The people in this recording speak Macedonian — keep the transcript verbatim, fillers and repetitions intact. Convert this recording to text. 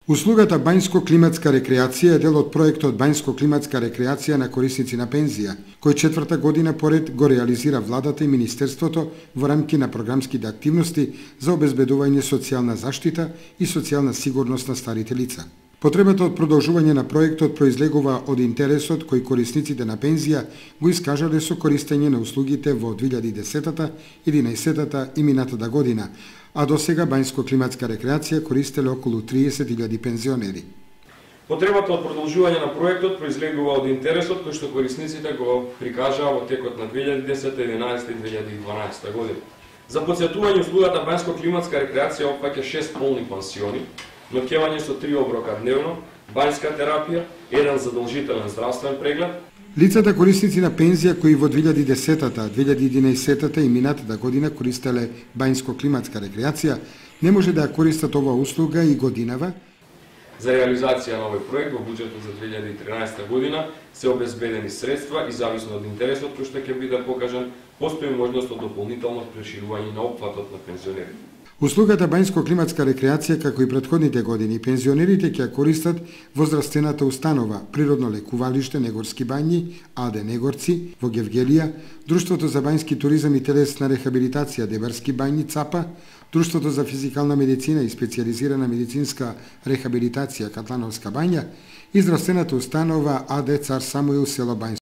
Услугата Бањско-климатска рекреација е дел од проектот Бањско-климатска рекреација на корисници на пензија, кој четврта година поред го реализира владата и министерството во рамки на програмските активности за обезбедување социјална заштита и социјална сигурност на старите лица. Потребата од продолжување на проектот произлегува од интересот кој корисниците на пензија го искажале со користење на услугите во две илјади и десетата, единаесеттата и минатата година, а до сега Бањско-климатска рекреација користеле околу триесет илјади пензионери. Потребата од продолжување на проектот произлегува од интересот кој што корисниците го прикажаа во текот на две илјади и десета, единаесета и две илјади и дванаесета година. За потсетување, услугата Бањско-климатска рекреација опфаќа шест полни пансиони, ноќевање со три оброка дневно, бањска терапија, еден задолжителен здравствен преглед. Лицата корисници на пензија кои во две илјади и десетата, две илјади и единаесеттата и минатата година користеле Бањско-климатска рекреација, не може да ја користат оваа услуга и годинава. За реализација на овој проект во буџетот за две илјади и тринаесета година се обезбедени средства и зависно од интересот кој што ќе биде покажан, постои можност од дополнително проширување на опфатот на пензионерите. Услугата Бањско-климатска рекреација, како и претходните години, пензионерите ќе ја користат во здравствената установа Природно лекувалиште Негорски бањи, АД Негорци, во Гевгелија, Друштвото за бањски туризам и телесна рехабилитација Дебарски бањи ЦАПА, Друштвото за физикална медицина и специјализирана медицинска рехабилитација Катлановска бања и здравствената установа АД Цар Самуил село Бањско.